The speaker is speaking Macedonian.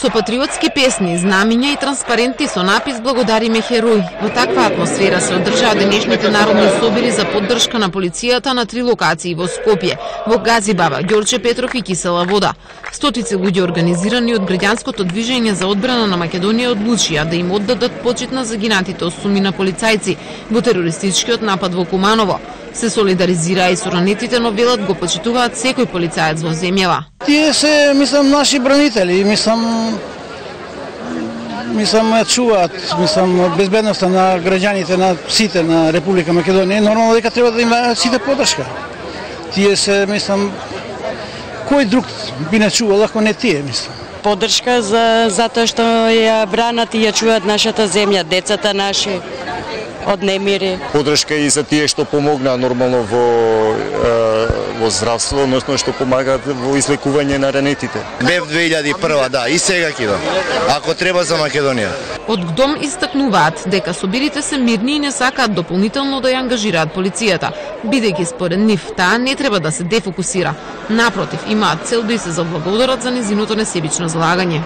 Со патриотски песни, знамиња и транспаренти со напис "Благодариме херои". Во таква атмосфера се одржаа денешните народни собири за поддршка на полицијата на 3 локации во Скопје, во Газибаба, Ѓорче Петров и Кисела Вода. Стотици луѓе организирани од граѓанското движење за одбрана на Македонија одлучија да им оддадат почит на загинатите осумина полицајци во терористичкиот напад во Куманово. Се солидаризираа и со ранетите, но велат го почитуваат секој полицаец во земјава. Тие се, мислам, наши бранители, мислам чуваат, безбедноста на граѓаните на сите на Република Македонија. Нормално дека треба да има сите поддршка. Тие се, мислам, кој друг би не чувал ако не тие, мислам. Поддршка затоа што ја бранат и ја чуваат нашата земја, децата наши од немири. Поддршка и за тие што помогнаа нормално во здравство, односно што помагаат во излекување на ранетите. Бев 2001, да, и сега ќе идам. Ако треба за Македонија. Од ГДОМ истакнуваат дека собирите се мирни и не сакаат дополнително да ја ангажираат полицијата, бидејќи според нив таа не треба да се дефокусира. Напротив, имаат цел да и се заблагодарат за незиното несебично залагање.